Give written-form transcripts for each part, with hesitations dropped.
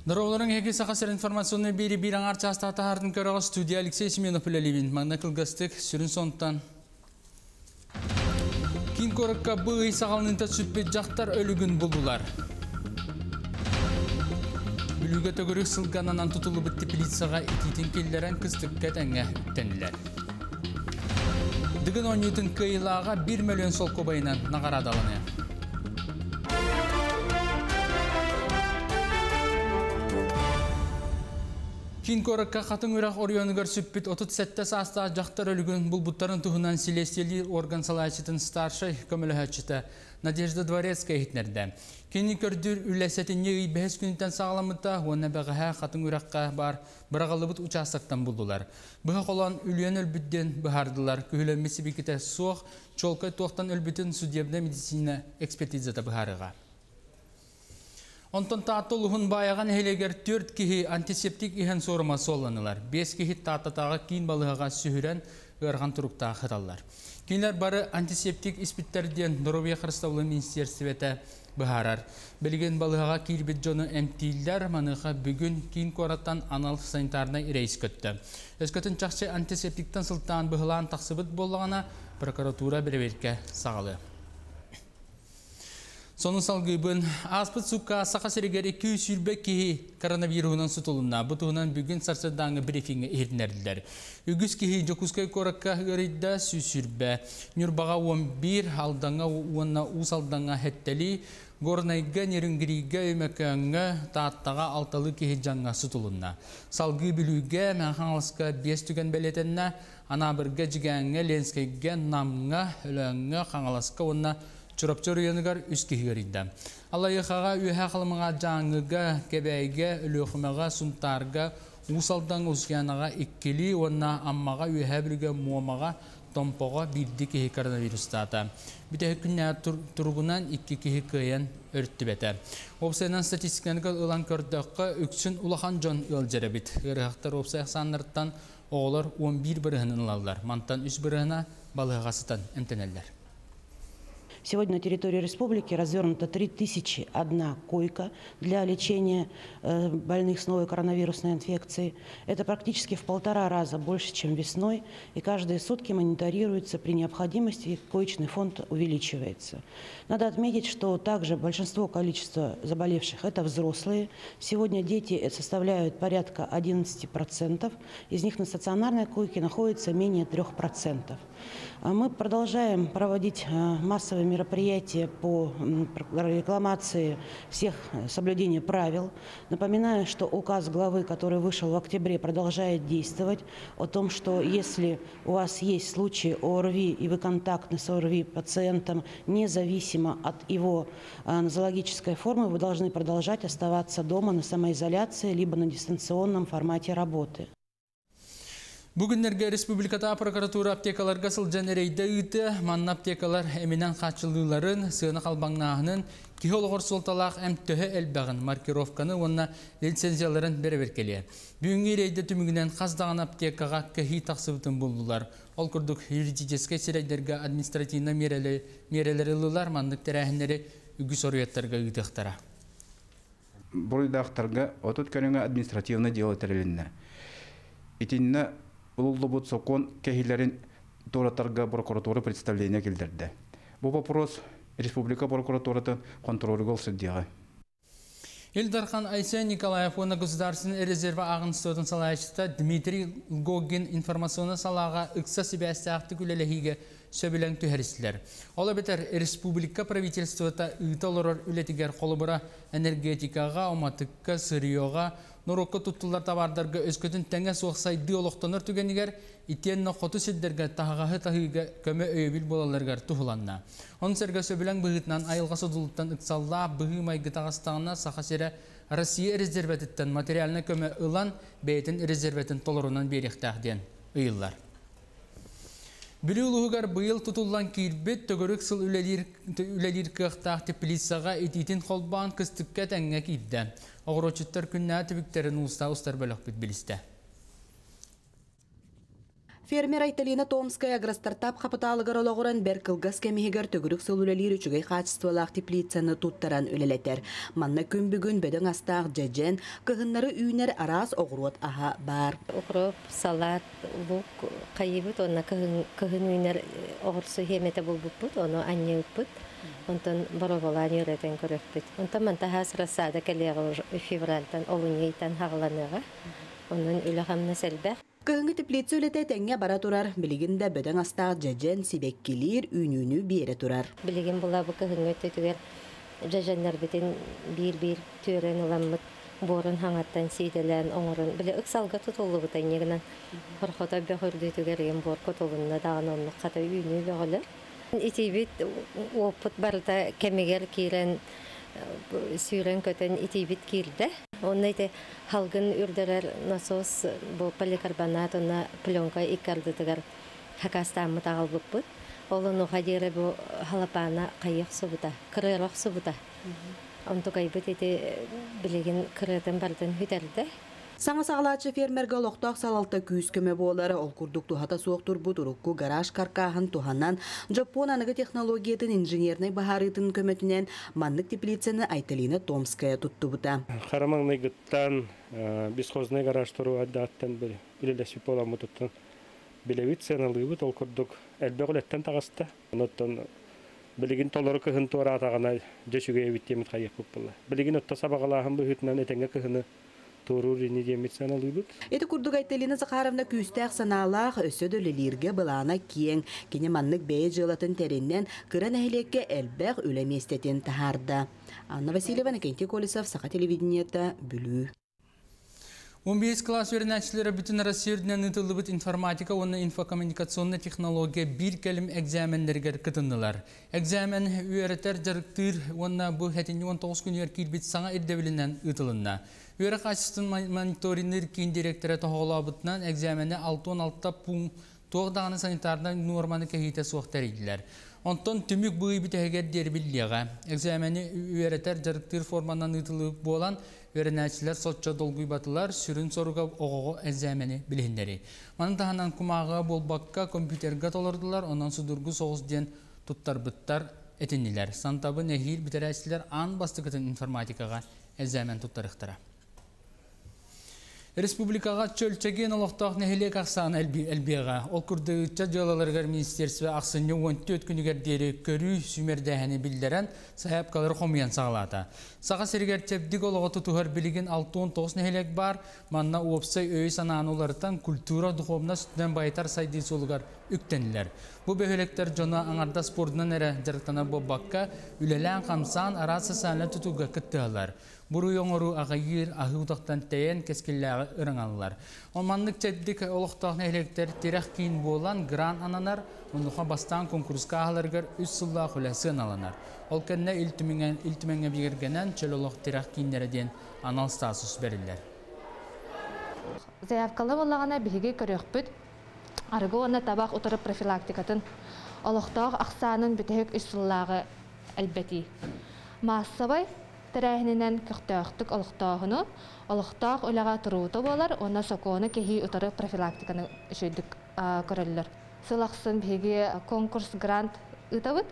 Дороолорун эһиги Саха сирин информационный биэри биир аҥаар чаастаах таһаартын көрөҕө студия Алексей Семенов үлэлиибин. Манна кылгастык сүрүн сонтан Киин куоракка бу ый саҕаланыыта сүппүт дьахтар өлүгүн буллулар. Бүлүүгэ төгүрүк сылгананан тутуллубут теплицаҕа итиитин киллэрэн кыстыкка тэҥҥэ үктэннилэр. Дыгын оонньуутун кыайыылааҕа 1 мөлүйүөн солкуобайынан наҕараадаланыа. Киин куоракка Хатыҥ Үрэх оройуонугар сүппүт 37 саастаах дьахтар өлүгүн булбуттарын туһунан силиэстийэлиир орган салайааччытын старшай көмөлөһөөччүтэ Надежда Дворецкая иһитиннэрдэ. Кини көрдүүр үлэ сэтинньи ый бэһис күнүттэн саҕаламмыта уонна бэҕэһээ Хатыҥ Үрэххэ баар быраҕыллыбыт учаастактан буллулар. Быһа холоон үлүйэн өлбүт диэн быһаардылар. Күһүлэммит сибикитэ суох, чуолкай туохтан өлбүтүн судебнай медицина экспертизата быһаарыаҕа. Онтон Таатта улууһун Баайаҕа нэһилиэгэр түөрт киһи антисептик иһэн суорума суолланылар. Биэс киһи Тааттатааҕы киин балыыһаҕа сүһүрэн ыарахан туруктаах сыталлар. Кинилэр бары антисептик испиттэр диэн доруобуйа харыстабылын министиэристибэтэ быһаарар. Билигин балыыһаҕа киирбит дьону эмтииллэр, маныаха бүгүн киин куораттан анал санитарнай рейс көттө. Өскөтүн чахчы антисептиктан сылтаан быһылаан тахсыбыт буоллаҕына, прокуратура бэрэбиэркэ саҕалыа. Сонун салгыыбын. Ааспыт сукка Саха сиригэр 220 киһи коронавируһунан сутулунна. Бу туһунан бүгүн сарсыардааҥҥы брифиҥҥэ иһитиннэрдилэр. Үгүс киһи Дьокуускай куоракка ыарыйда, 120. Ньурбаҕа 11, Алдаҥҥа уонна Уус Алдаҥҥа сэттэлии, Горнайга, Нерюнгригэ, Өймөкөөҥҥө, Тааттаҕа алталыы киһи дьаҥҥа сутулунна. Салгыы Бүлүүгэ, Мэҥэ Хаҥаласка биэс түгэн бэлиэтэннэ. Анаабырга, Дьигээҥҥэ, Ленскэйгэ, Намҥа, Өлөөҥҥө, Хаҥаласка уонна Чурапчы оройуонугар үс киһи ыарыйда. Аллайыахаҕа, Үөһээ Халымаҕа, Дьааҥыга, Кэбээйигэ, Өлүөхүмэҕэ, Сунтаарга, Уус Алдаҥ, Усуйаанаҕа иккилии уонна Аммаҕа, Үөһээ Бүлүүгэ, Муомаҕа, Томпоҕо биирдии киһи коронавирустаата. Бүтэһик күннээҕи туругунан икки киһи кыайан өрүттүбэтэ. Уопсайынан статистиканы ылан көрдөххө, үксүн улахан дьон ыалдьар эбит. Ыарыһахтар уопсай ахсааннарыттан оҕолор 11 бырыһын ылаллар. Мантан үс бырыһына балыыһаҕа сытан эмтэнэллэр. Сегодня на территории республики развернуто 3001 койка для лечения больных с новой коронавирусной инфекцией. Это практически в полтора раза больше, чем весной. И каждые сутки мониторируется при необходимости, коечный фонд увеличивается. Надо отметить, что также большинство количества заболевших – это взрослые. Сегодня дети составляют порядка 11%. Из них на стационарной койке находится менее 3%. Мы продолжаем проводить массовые мероприятия по рекламации всех соблюдения правил. Напоминаю, что указ главы, который вышел в октябре, продолжает действовать о том, что если у вас есть случаи ОРВИ и вы контактны с ОРВИ пациентом, независимо от его нозологической формы, вы должны продолжать оставаться дома на самоизоляции либо на дистанционном формате работы. Бу күннэргэ республикатааҕы прокуратура аптекаларга сылдьан рейдэ ыытыа, манна аптекалар эминэн хааччыллыыларын, сыана халбаҥнааһынын, киһи олоҕор суолталаах эмп төһө элбэҕин, маркировканы уонна лицензияларын бэрэбиэркэлиэ. Бүгүҥҥү рейдэ түмүгүнэн хас даҕаны аптекаҕа кэһии тахсыбытын буллулар. Ол курдук юридическэй сирэйдэргэ административнай миэрэлэри ыллылар, маннык тэрээһиннэри үгүс оруйаттарга ыытыахтара. Буруйдаахтарга 30 көрүҥэ административнай дьыала тэрилиннэ. Итиннэ ылыллыбыт сокуон кэһиилэрин туоратарга прокуратура представление киллэрдэ. Бу вопрос республика прокуратуратын хонтуруолугар сылдьыаҕа. Ил Дархан Айсен Николаев уонна Государственный резервэ ааҕыныстыбатын салайааччыта Дмитрий Лгогин информационнай салааҕа ыкса сибээстээхтик үлэлэһиигэ сөбүлэҥ түһэристилэр. Ол эбэтэр республика правительствота ыыта олорор үлэтигэр холобура энергетикаҕа, уматыкка, сырьеҕа, норуокка туттуллар табаардарга өскөтүн тэҥэ суох сайдыы олохтонор түгэнигэр итиэннэ хоту сирдэргэ таһаҕаһы таһыыга көмө өйөбүл буолалларыгар туһуланна. Ону сэргэ сөбүлэҥ быһыытынан айылҕа содулуттан ыксаллаах быһыы-майгы таҕыстаҕына Саха сирэ Россия резервэтиттэн материальнай көмө ылан бэйэтин резервэтин толорунан биэриэхтээх диэн ыйыллар. Бүлүү улууһугар быйыл тутуллан киирбит төгүрүк сыл үлэлиир, үлэлиир кыахтаах теплицаҕа итиитин холбоон кыстыкка тэҥҥэ киирдэ. Оҕуруотчуттар күннээҕи түбүктэрин уустаа устар бөлөхпүт билистэ. Фермер Айталина Томская Агростартап хапытаалыгар олоҕуран бэрт кылгас кэм иһигэр төгүрүк сыл үлэлиир үчүгэй хаачыстыбалаах теплицаны туттаран үлэлэтэр. Манна күн бүгүн бөдөҥ астаах дьэдьэн, кыһыннары үүнэр араас оҕуруот аһа баар. Укроп, салат, лук хайыбыт уонна кыһын үүнэр оҕурсу хиэмэтэ булбуппут, ону анньыыппыт. Онтон бороболаан үөрэтэн көрүөхпүт. Онтон мантаһаас рассада кэлиэҕэ февральтан, олунньу ыйтан хаҕаланыаҕа. Онон үлэ-хамнас элбэх. Кыһыҥҥы теплица үлэтэ этэҥҥэ бара турар, билигин да бөдөҥ астаах дьэдьэн, сибэккилиир, үүнүүнү биэрэ турар. Билигин була бу кыһыҥҥы өттүтүгэр дьэдьэннэрбитин биир-биир түөрэн ыламмыт, буорун хаҥаттан сиидэлээн оҥорон, били ыксалга тутуллубута инньэ гынан хорхото бөх үрдүтүгэр ыйын буор кутулунна даҕаны оннук хата үүнүү бөҕөлөр. Итиибит уоппут барыта кэмигэр киирэн сүүрэн-көтөн итиибит киирдэ. Онно ити халгын үрдэрэр насос бу поликарбонат уонна пленка икки ардытыгар хакастааммыт аҕалбыппыт. Ол онуоха диэри бу халапаана хайыах субута, кырыарах субута. Онтукайбыт ити билигин кырыатын барытын бүтэрдэ. Саҥа саҕалааччы фермергэ олохтоох салалта күүс-көмө буолар, ол курдук туһата суох турбут урукку гараж каркааһын туһанан, Дьоппуон аныгы технологиятын инженернэй быһаарыытын көмөтүнэн маннык теплицаны Айталина Томская туттубута. Хара маҥнайгыттан бесхозный гараж туруу аттан үлэлэспит буоламмытыттан билэбит, сыаналыыбыт, ол курдук элбэх үлэттэн таҕыста. Онон билигин толору кыһын туораатаҕына дьэ үчүгэй эбит диэммит хайыахпыт буолла. Билигин отто сабаҕалааһын быһыытынан этэҥҥэ кыһыны туоруур ини диэммит сыаналыыбыт. Ити курдук Айталина Захаровна күүстээх санаалаах, өссө да үлэлииргэ былаана киэҥ. Кини маннык бэйэ дьыалатын тэринэн, кыра нэһилиэккэ элбэх үлэ миэстэтин таһаарда. Анна Васильева, Иннокентий Колесов, Саха телевидениета, Бүлүү. 15 кылаас үөрэнээччилэрэ бүтүн Россия үрдүнэн ыытыллыбыт информатика уонна инфокоммуникационнай технология биир кэлим экзаменнэригэр кытыннылар. Экзамен үөрэтэр дьарыктыыр уонна бу сэтинньи 19 күнүгэр киирбит саҥа ирдэбилинэн ыытылынна. Үөрэх хаачыстыбатын мониторинныыр киин директора тоһоҕолообутунан экзамени 66 пункт туох даҕаны санитарнай нуорманы кэһиитэ суох тэрийдилэр. Онтон түмүк бу ый бүтэһигэр диэри биллиэҕэ. Экзамени үөрэтэр дьарыктыыр форманан ыытыллыбыт буолан, үөрэнээччилэр соччо долгуйбатылар, сүрүн соруга оҕоҕо экзамени билиһиннэрии. Маны таһынан кумааҕыга буолбакка компьютерга толордулар, онон судургу соҕус диэн туттарбыттар этиннилэр. Сантабы нэһиил бүтэрээччилэр аан бастакытын информатикаҕа экзамен туттарыахтара. Республикаҕа чөл-чэгиэн олохтоох нэһилиэк ахсаана элбиэҕэ. Ол курдук ыччат дьыалаларыгар министерство ахсынньы 14 күнүгэр диэри көрүү сүүмэрдээһини биллэрэн, сайаапкалары хомуйан саҕалаата. Саха сиригэр чэбдик олоҕу тутуһар билигин 69 нэһилиэк баар. Манна уопсай өйү-санааны уларытан, культура, духовность өттүнэн байытар сайдыы суолугар үктэннилэр. Бу бөһүөлэктэр дьоно аҥардас спордунан эрэ дьарыктанар буолбакка, үлэлээн-хамсаан араас социальнай тутууга кыттыһаллар. Буруй оҥоруу аҕыйыыр, аһыы утахтан тэйэн кэскиллээҕи ырыҥаллар. Ол маннык чэбдик олохтоох нэһилиэктэр тирэх киин буолан грант ананар, онуоха бастаан куонкуруска ааһаларыгар үс сыллаах үлэ сыаналанар. Ол кэннэ Ил Түмэҥҥэ Ил Түмэҥҥэ бигэргэнэн чөл олох тирэх кииннэрэ диэн анал статус бэриллэр. Заявкалы буоллаҕына биһиги көрүөхпүт арыгы уонна табах утары профилактикатын олохтоох ахсаанын бүтэһик үс сыллааҕы элбэтии. Маассабай тэрээһининэн көхтөөхтүк олохтооһуну, олохтоох үлэҕэ туруута буолар уонна сокуону кэһии утары профилактиканы үчүгэйдик көрөллөр. Сыл ахсын биһиги конкурс грант ыытабыт.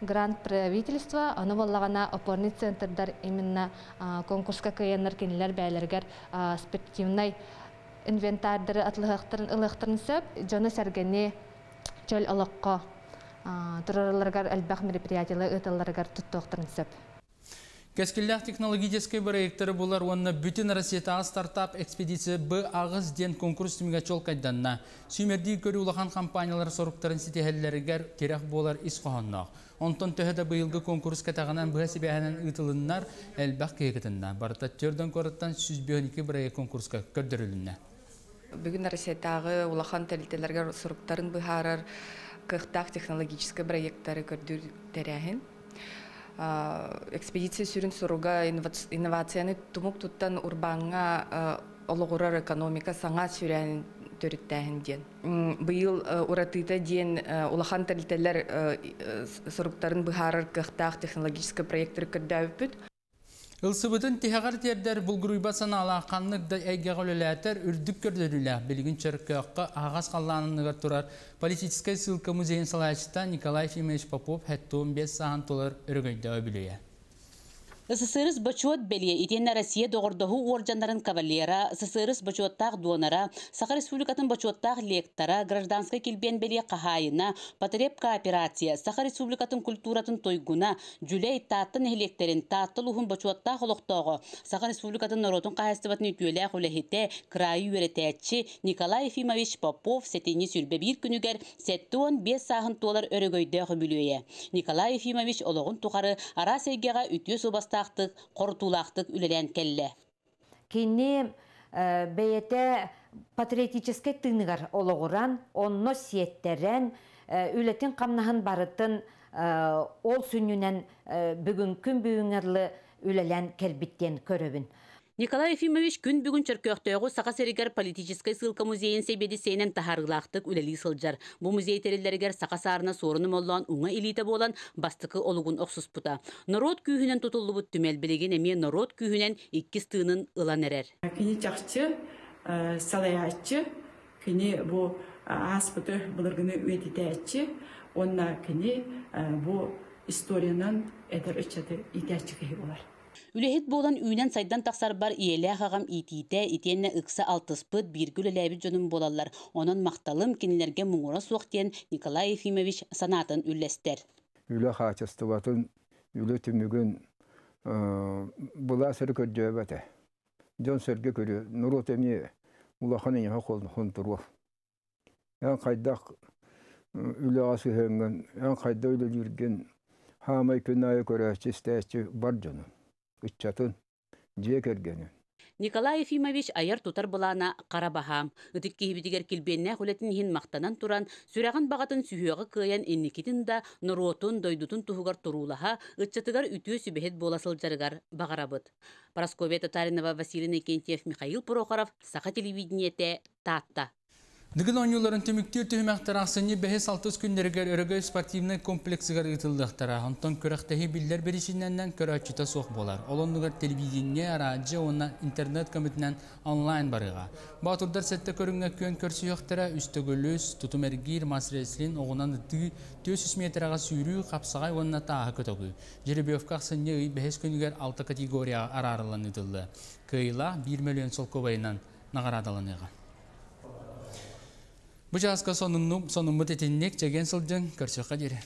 Грант правительства, ону буоллаҕына опорный центрдар именно конкурска кыайаннар кинилэр бэйэлэригэр спортивнай инвентардары атылыһыахтарын ылыахтарын сөп. Дьону-сэргэни чөл олоххо турараларыгар элбэх мероприятиялар ыыталларыгар туттуохтарын сөп. Кэскиллээх технологическай бырайыактары булар уонна бүтүн Россиятааҕы стартап экспедиция Б8 диэн конкурс түмүгэ чуолкайданна. Сүүмэрдиир көрүү улахан компаниялар соруктарын ситиһэллэригэр тирэх буолар ис хоһоонноох. Онтон төһө да быйылгы конкурс кэтэҕинэн быһа сибээһинэн ыытылыннар, элбэх киһи кытынна. Барыта төрдөн куораттан 152 бырайыак конкурска көрдөрүлүннэ. Бүгүн Россиятааҕы улахан тэрилтэлэргэ соруктарын быһаарар кыахтаах технологическай проекттары көрдүүр тэрээһин. Экспедиция сүрүн соруга инновацияны тумук туттан урбааҥҥа олоҕурар экономика саҥа сүүрээнин төрүттээһин диэн. Быйыл уратыта диэн улахан тэрилтэлэр соруктарын быһаарар кыахтаах технологическай проекттары көрдөөбүппүт. Ылсыбытын тиһэҕэр тиэрдэр булгуруйбат санаалаах ханнык да эйгэҕэ үлэлээтэр үрдүк көрдөрүүлээх билигин Чөркөөххө аһаҕас халлаан анныгар турар политическай ссылка музейын салайааччыта Николай Ефимович Попов 75 сааһын туолар өрөгөйдөөх үбүлүөйэ. СССР Бочуот бэлиэ итиэннэ Россия доҕордоһуу уордьаннарын кавалера, СССР бочуоттаах дуонара, Саха Республикатын бочуоттаах лектора, гражданскай килбиэн бэлиэ хаһаайына, потреб кооперация, Саха Республикатын культуратын туйгуна, Дьүлэй, Таатта нэһилиэктэрин Таатта улууһун бочуоттаах олохтооҕо, Саха Республикатын норуотун хаһаайыстыбатын үтүөлээх үлэһитэ, кыраайы үөрэтээччи Николай Ефимович Попов сэтинньи 21 күнүгэр 75 сааһын туолар өрөгөйдөөх үбүлүөйэ. Николай Ефимович олоҕун тухары араас эйгэҕэ үтүө суобастаахтык, хорутуулаахтык үлэлээн кэллэ. Кини бэйэтэ патриотическай тыыныгар олоҕуран, онно сиэттэрэн, үлэтин-хамнаһын барытын ол сүнньүнэн бүгүҥкүн бүгүҥҥэ үлэлээн кэлбит диэн көрөбүн. Николай Ефимович күн бүгүн Чөркөөхтөөҕү Саха сиригэр политическай ссылка музейын сэбиэдиссэйинэн таһаарыылаахтык үлэлии сылдьар. Бу музей тэриллэригэр саха саарына суорун омоллоон уҥа илиитэ буолан бастакы олугун охсуспута. Норуот күүһүнэн тутуллубут түмэл билигин эмиэ норуот күүһүнэн иккис тыынын ылан эрэр. Кини чахчы салайааччы, кини бу ааспыты былыргыны үйэтитээччи уонна кини бу историянан эдэр ыччаты иитээччи киһи буолар. Үлэһит буолан үүнэн-сайдан тахсарбар ийэлээх аҕам иитиитэ итиэннэ ыкса алтыспыт, бииргэ үлэлээбит дьонум буолаллар. Онон махталым кинилэргэ муҥура суох диэн Николай Ефимович санаатын үллэстэр. Үлэ хаачыстыбатын, үлэ түмүгүн былаас эрэ көрдөөбөтө. Дьон-сэргэ көрүө, норуот эмиэ улахан эйиэхэ хонтуруо. Эн хайдах үлэҕэ сыһыаҥҥын, эн хайдах үлэлииргин хаамай күн аайы көрөөччү, истээччи бар дьонун, ыччатын, дьиэ кэргэнин. Николай Ефимович айар-тутар былаана хара баһаам. Ытык киһибитигэр килбиэннээх үлэтин иһин махтанан туран, сүрэҕин баҕатын сүһүөҕэ кыайан инникитин да норуотун, дойдутун туһугар туруулаһа, ыччатыгар үтүө сүбэһит буола сылдьарыгар баҕарабыт. Парасковья Татаринова, Василий Иннокентьев, Михаил Прохоров, Саха телевидениетэ, Таатта. Дыгын оонньууларын түмүктүүр түһүмэхтэр ахсынньы бэһис-алтыс күннэригэр Өрөгөй спортивнай комплексыгар ыытыллыахтара. Онтон күрэхтэһии биллэр биричиинэнэн көрөөччүтэ суох буолар. Ол оннугар телевидение, араадьыйа уонна интернет көмөтүнэн онлайн барыаҕа. Боотурдар сэттэ көрүҥҥэ күөн көрсүһүөхтэрэ, үс төгүл үс, тутум эргиир, мас-рестлинг, оҕунан ытыы, 400 миэтэрэҕэ сүүрүү, хапсаҕай уонна тааһы көтөҕүү. Жеребьевка ахсынньы ый бэһис күнүгэр алта категорияҕа араарыллан ыытыллыа. Кыайыылаах биир мөлүйүөн солкуобайынан наҕараадаланыаҕа. Бу чааска сонуннум, сонуммут итинник, чэгиэн сылдьыҥ, көрсүөххэ диэри.